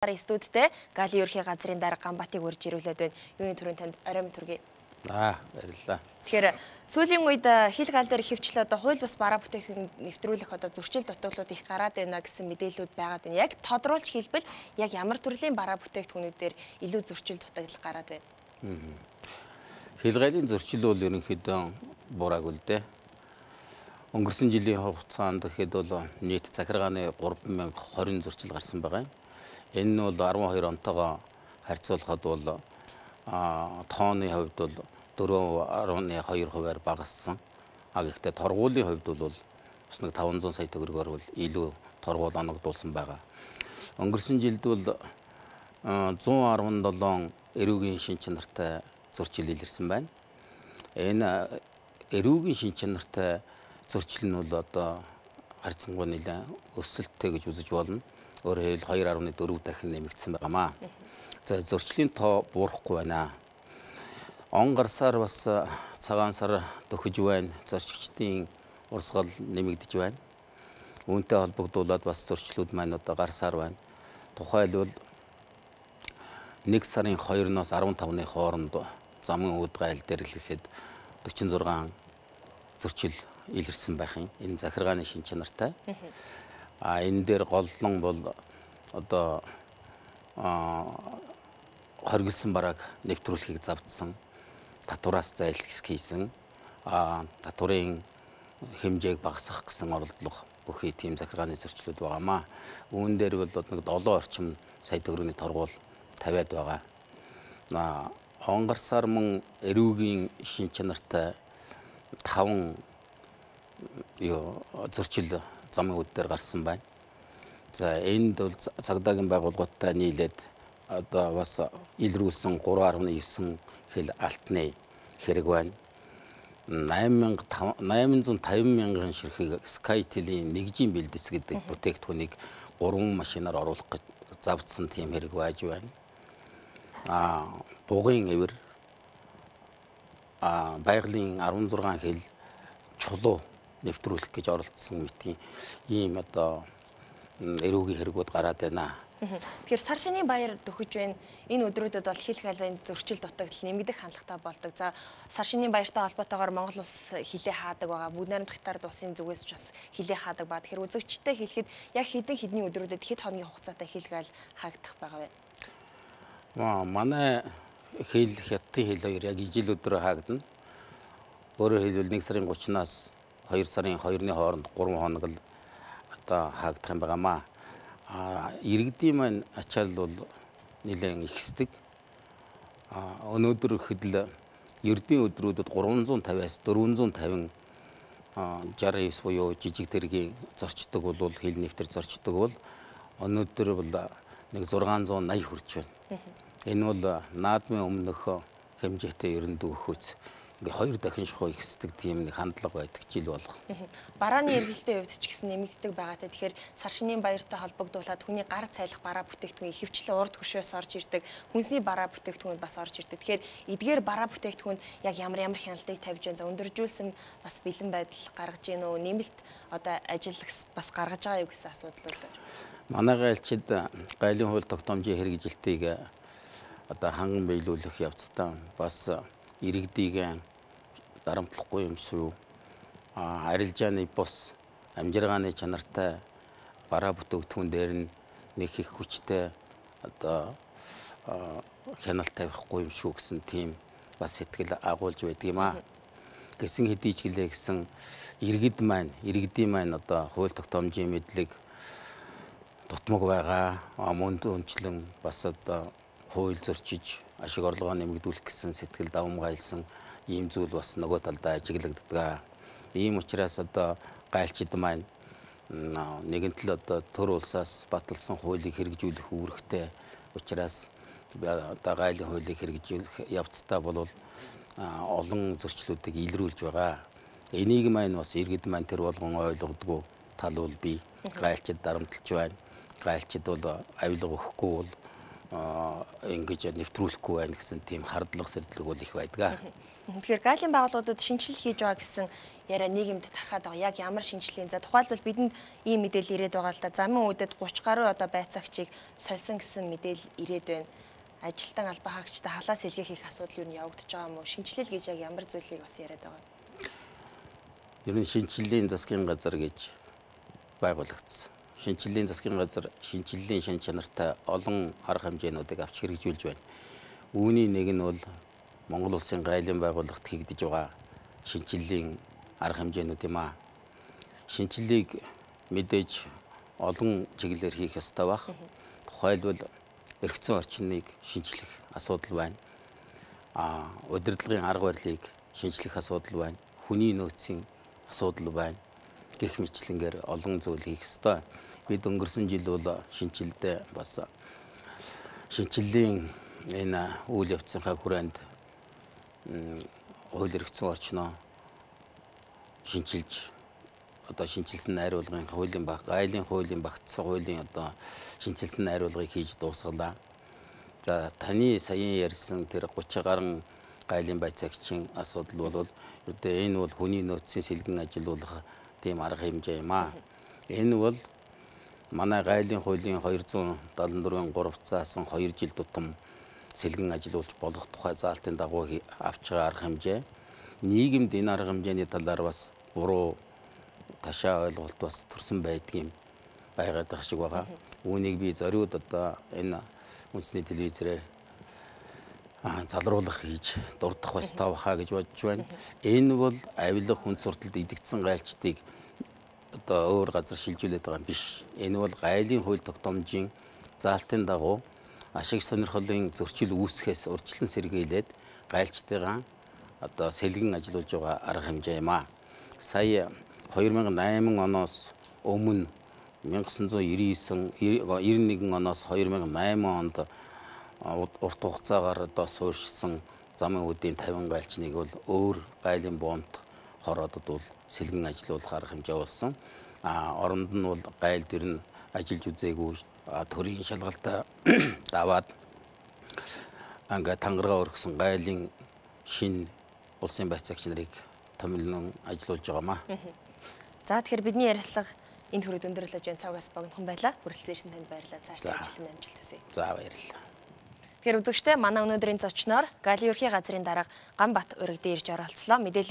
Студтэй Галийн ерхий газрын дарга Ганбаатыг урьж ирүүлээд байна. Юуны төрөнд танд оройн төргий. Баярлалаа. Тэгэхээр сүүлийн үед хил гал дээр хөвчлөө хууль бус бараа бүтээгдэхүүн нэвтрүүлэх зөрчил дутагдлууд их гараад байна гэсэн мэдээлэлүүд байгаад байна. Яг тодруулж хэлбэл яг ямар төрлийн бараа бүтээгдэхүүнүүдээр илүү зөрчил дутагдал гараад байна. Хил галын зөрчил бол ерөнхийдөө бураагүй л дээ. Өнгөрсөн жилийн хугацаанд гэхэд бол нийт захиргааны 3020 зөрчил гарсан байгаа. Энэ нь бол 12 онтойгоо харьцуулахад бол тооны хувьд бол 4.2%-аар багассан. Гэхдээ торгуулийн хувьд бол бас нэг 500 сая төгрөгөөр бол илүү торгуул оногдуулсан байгаа. Өнгөрсөн жилд бол 117 эрүүгийн шин чанартай зөрчил илэрсэн байна. Энэ эрүүгийн шин чанартай зөрчил нь бол одоо харьцангуй нэлээд өсөлттэй гэж үзэж болно. Өөрөөр хэлбэл 2.4 дахин нэмэгдсэн байнамаа. За зөрчлийн тоо буурахгүй байна. Он гарсаар бас цагаан сар дөхөж байна. Зорчигчдын урсгал нэмэгдэж байна. Үүнтэй холбогдуулаад бас зөрчлүүд маань одоо гарсаар байна. Тухайлбал 1 сарын 2-оос 15-ны хооронд замын үүд гайл дээр л ихэд 46 зөрчил илэрсэн байх юм. Энэ захиргааны шин чанартай. Энэ дээр голлон бол одоо хоригдсан барааг нэвтрүүлэхийг завдсан. Татвараас зайлсхийх хийсэн. Татварын хэмжээг багасгах гэсэн оролдлого бүхий тийм захиргааны зөрчлүүд байгаамаа. Үүн дээр бол нэг 7 орчим сая төгрөгийн торгуул тавиад байгаа. Онгарсаар мөн эрүүгийн шин чанартай 5 зөрчил замын үд дээр гарсан байна. За энд бол цагдаагийн байгууллагуудтай нийлээд одоо бас илрүүлсэн 3.9 хил алтны хэрэг байна. 850 мянган ширхэг SkyTel-ийн нэгжийн бэлдэц гэдэг бүтээгдэхүүнийг 3 машинаар оруулах гэж завдсан тийм хэрэг байж байна. Бугын эвэр байгалийн 16 хил чулуу нэвтрүүлэх гэж оролдсон мэтийн ийм одоо эрүүгийн хэрэгүүд гараад байна. Тэгэхээр сар шинийн баяр дөхөж байна. Энэ өдрүүдэд бол хил галын зөрчил дутагдал нэмэгдэх хандлагатай болдог. За сар шинийн баяртай холбоотойгоор Монгол улс хилээ хаадаг байгаа. Бүгд найрамдах тард улсын зүгээс ч бас хилээ хаадаг ба. Тэгэхээр үзэгчтэй хэлэхэд яг хэдийн өдрүүдэд хэд хоногийн хугацаатай хил гал хаагдах байгаа вэ? Манай хил хятадын хил хоёр яг ижил өдрөө хаагдана. Өөрөөр хэлбэл 1 сарын 30-наас 2 сарын 2-ны хооронд 3 хоног л одоо хаагдах юм байнамаа. Иргэдийн маань ачаал бол нэлээд ихсдэг. Өнөөдөр гэхэд ердийн өдрүүдэд 350-аас 450 69 буюу жижиг тэргийн зорчдог бол хил нэвтэр зорчдог бол өнөөдөр бол нэг 680 хүрч байна. Энэ бол наадмын өмнөх хэмжээтэй ерөндөг өгөхөц. Ингээ 2 дахин шухуу ихсдэг тийм нэг хандлага байдаг жил болго. Барааны эргэлтийн хувьд ч гэсэн нэмэгддэг байгаатай. Тэгэхээр сар шинийн баяртай холбогдуулаад хүний гар цайлах бараа бүтээгдэхүүн ихэвчлэн урд хөшөөс орж ирдэг. Хүнсний бараа бүтээгдэхүүнд бас орж ирдэг. Тэгэхээр эдгээр бараа бүтээгдэхүүнд яг ямар хяналтыг тавьж байна. За өндөржүүлсэн бас бэлэн байдал гаргаж гин үү? Нэмэлт одоо ажиллагч бас гаргаж байгаа юу гэсэн асуудал байна. Манай гайлчид гайлын хууль тогтоомжийн хэрэгжилтийг одоо ханган биелүүлэх явцдаа бас иргэдийг дарамтлахгүй юм шүү. Арилжааны бус амжиргааны чанартай бараа бүтээгдэхүүн дээр нь нэг их хүчтэй одоо хяналт тавихгүй юм шүү гэсэн тийм бас сэтгэл агуулж байдаг юм аа. Гэсэн хэдий ч гэлээ гэсэн иргэдийн маань одоо хууль тогтоомжийн мэдлэг дутмаг байгаа. Мөн үнчлэн бас одоо хууль зөрчиж ашиг орлогоо нэмэгдүүлэх гэсэн сэтгэл давамгайлсан ийм зүйл бас нөгөө талдаа ажиглагддаг. Ийм учраас одоо гайлчид маань нэгэнтэл одоо төр улсаас баталсан хуулийг хэрэгжүүлэх үүрэгтэй учраас одоо гайлын хуулийг хэрэгжүүлэх явцдаа бол олон зөрчлүүдийг илрүүлж байгаа. Энийг маань бас иргэд маань тэр болгон ойлгодгүй тал бол бий. Гайлчид дарамтлж байна. Гайлчид бол авилга өгөхгүй бол ингэж нэвтрүүлэхгүй байна гэсэн тийм хардлага сэрдлэг бол их байдаг. Тэгэхээр галийн байгууллагуудад шинжилэл хийж байгаа гэсэн яриа нийгэмд тархаад байгаа. Яг ямар шинжилгээ? За тухайлбал бидэнд ийм мэдээлэл ирээд байгаа л да. Замын үедэд 30 гаруй одоо байцаагчийг сольсон гэсэн мэдээлэл ирээд байна. Ажилтан албан хаагчтай халаа сэлгээ хийх асуудал юу нь явагдаж байгаа юм уу? Шинжилэл гэж яг ямар зүйлийг бас яриад байгаа? Ер нь шинжиллийн засгийн газар гэж байгуулагдсан. Шинжиллийн засгийн газар шинжиллийн шин чанартай олон арга хэмжээнүүдийг авч хэрэгжүүлж байна. Үүний нэг нь бол Монгол Улсын гайлын байгууллагт хийгдэж байгаа шинжиллийн арга хэмжээнүүд юм аа. Шинжилгээг мэдээж олон чиглэлээр хийх ёстой байх. Тухайлбал эрх зүйн орчныг шинжлэх асуудал байна. Удирдлагын арга барилыг шинжлэх асуудал байна. Хүний нөөцийн асуудал байна. Гэх мэтлэнгээр олон зүйл хийх ёстой. Бид өнгөрсөн жил бол шинжилдээ бас шинжиллийн энэ үйл явцынхаа хүрээнд хууль эрх зүйн орчноо шинжилж одоо шинжилсэн найруулгын хуулийн гайлын хуулийн багтсан хуулийн одоо шинжилсэн найруулгыг хийж дуусгалаа. За таны саяхан ярьсан тэр 30 гаруй гайлын байцаагчийн асуудал бол энэ бол хүний нөөцийн сэлгэн ажилуулах тийм арга хэмжээ юм аа. Энэ бол манай гайлын хуулийн 274-ийн 3-цаас 2 жил тутам сэлгэн ажилуулж болох тухай заалтын дагуу авч байгаа арга хэмжээ. Нийгэмд энэ арга хэмжээний талаар бас буруу ташаа ойлголт бас төрсэн байдгийн байгаад байгаа шиг байгаа. Үүнийг би зориуд одоо энэ үндэсний телевизээр залруулах хийж дурдах ёстой баха гэж бодож байна. Энэ бол авилга хүн сурталд идэгдсэн гайлчдыг одоо өөр газар шилжүүлээд байгаа юм биш. Энэ бол гайлын хууль тогтоомжийн заалтын дагуу ашиг сонирхлын зөрчил үүсгэхээс урьдчилан сэргийлээд гайлчдыгаа одоо сэлгэн ажиллуулж байгаа арга хэмжээ юм аа. Сая 2008 оноос өмнө 1991 оноос 2008 онд урт хугацаагаар одоо суурьшсан замын үдийн 50 гайлчныг бол өөр гайлын боомт хороодод бол сэлгэн ажиллуулах арга хэмжээ болсон. Оронд нь бол гайл дэр нь ажиллаж үзээгүй төрийн шалгалтаа даваад ингээ тангараа өргөсөн гайлын шин улсын байцаагч нарыг томилон ажиллуулж байгаамаа. За тэгэхээр бидний ярилцлага энэ төрөд өндөрлөж байна. Цавгаас богинохон байлаа. Хүрэлцэн ирсэн танд баярлалаа. Цаашдаа ажилтны амжилт хүсье. За баярлалаа. Тэгэхээр үзэгчдээ манай өнөөдрийн зочноор Галийн ерхий газрын дарга Ганбат ураг дээр ирж оролцлоо. Мэдээлэл